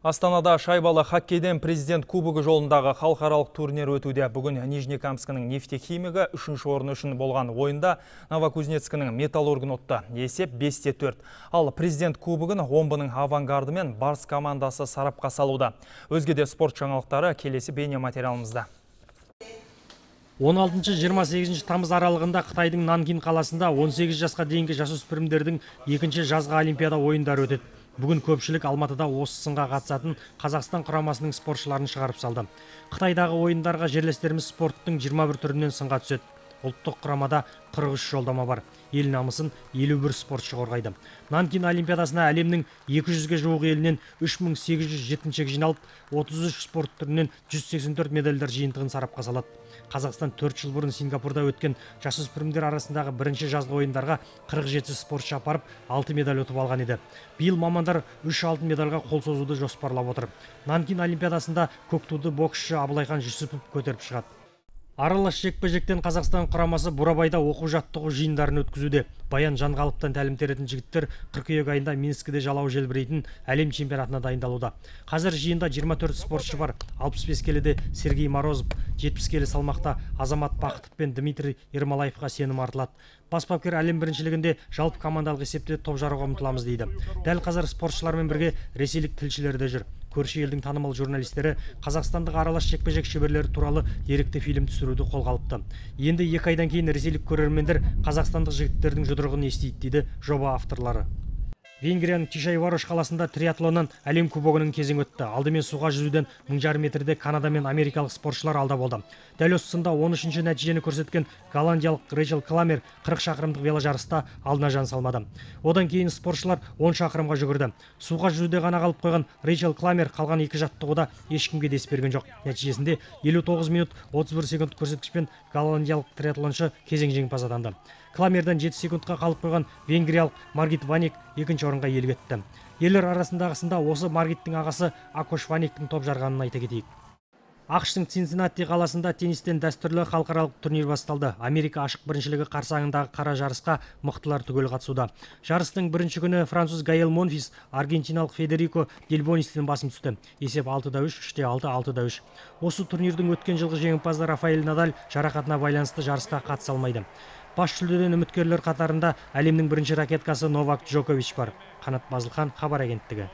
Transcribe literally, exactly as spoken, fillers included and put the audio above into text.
Астанада шайбалы хоккейден президент кубогы жолындағы халықаралық турнир өтуде. Бүгін Нижнекамскінің нефтехимигі үшінші орын үшін болған ойында Новокузнецкінің металлургін ұтты. Есеп бес те төрт. Ал президент кубогын Омбының авангарды мен Барс командасы сарапқа салуда. Өзге де спорт жаңалықтары келесі бейне материалымызда. он алтыншы жиырма сегізінші тамыз аралығында Қытайдың Нанкин қаласында он сегіз жасқа дейінгі жасөспірімдердің екінші жазғы олимпиада ойындары өтеді. Бүгін көпшілік Алматыда осы сынға қатысатын Қазақстан құрамасының спортшыларын шығарып салды. Қытайдағы ойындарға жерлестеріміз спорттың жиырма бір түрінен сынға түседі. Ұлттық құрамада қырық үш жолдама бар. Ел намысын елу бір спортшы қорғайды. Нанкин олимпиадасына әлемнің екі жүзге жуық елінен үш мың сегіз жүз жеткіншек жиналып, отыз үш спорт түрінен жүз сексен төрт медальдар жиынтығын сарапқа салады. Қазақстан төрт жыл бұрын Сингапурда өткен жасөспірімдер арасындағы бірінші жазғы ойындарға қырық жеті спортшы апарып, алты медаль ұтып алған еді. Биыл мамандар үш алтын медальға қол созуды жоспарлап отыр. Нанкин олимпиадасында көк туды боксшы Абылайхан Жүсіпов көтеріп шығады. Аралас жекпе-жектен Қазақстан құрамасы Бурабайда оқу-жаттығу жиындарын өткізуде. Баян Жанғалыптан тәлім теретін жігіттер қыркүйек айында Минскіде жалау желбірейтін әлем чемпионатына дайындалуда. Қазір жиында жиырма төрт спортшы бар. алпыс бес келіде Сергей Морозов, жетпіс келі салмақта Азамат Бақытов пен Дмитрий Ермолаевқа сенім артылады. Бас бапкер әлем біріншілігінде жалпы командалық есепте топ жаруға ұмтыламыз дейді. Дәл қазір спортшылармен бірге ресейлік тілшілер де жүр. Көрші елдің танымал журналистері қазақстандық аралас жекпе-жек шеберлері туралы деректі фильм түсіруді қолға алыпты. Енді екі айдан кейін ресейлік көрермендер қазақстандық жігіттердің жұдырығын естиді дейді жоба авторлары. Венгрияның Тишайварош қаласында триатлоннан әлем кубогының кезеңі өтті. Алдымен суға жүзуден мың жарым метрде Канада мен америкалық спортшылар алда болды. Дәл осы сында он үшінші нәтижені көрсеткен голландиялық Рейчел Кламер қырық шақырымдық веложарыста алдына жан салмады. Одан кейін спортшылар он шақырымға жүгірді. Суға жүзуде ғана қалып қойған Рейчел Кламер қалған екі жаттығуда ешкімге дес берген жоқ. Нәтижесінде елу тоғыз минут отыз бір секунд көрсеткішпен голландиялық триатлоншы кезең жеңімпазы атанды. Кламерден жеті секундқа қалып қойған венгриялық Маргит Ваник екінші орынға иелік етті. Ерлер арасындағысында осы Маргиттің ағасы Акош Ваниктің топ жарғанын айта кетейік. ақш-тың Цинциннати қаласында теннистен дәстүрлі халықаралық турнир басталды. Америка ашық біріншілігі қарсаңындағы қара жарысқа мықтылар түгел қатысуда. Жарыстың бірінші күні француз Гаэл Монфис аргентиналық Федерико Дельбонистен басым түсті. Есеп алты да үш, үш те алты, алты да үш. Осы турнирдің өткен жылғы жеңімпазы Рафаэль Надаль жарақатына байланысты жарысқа қатыса алмайды. Бас жүлдеден үміткерлер қатарында әлемнің бірінші ракеткасы Новак Джокович бар. Қанат Базылхан, хабар агенттігі.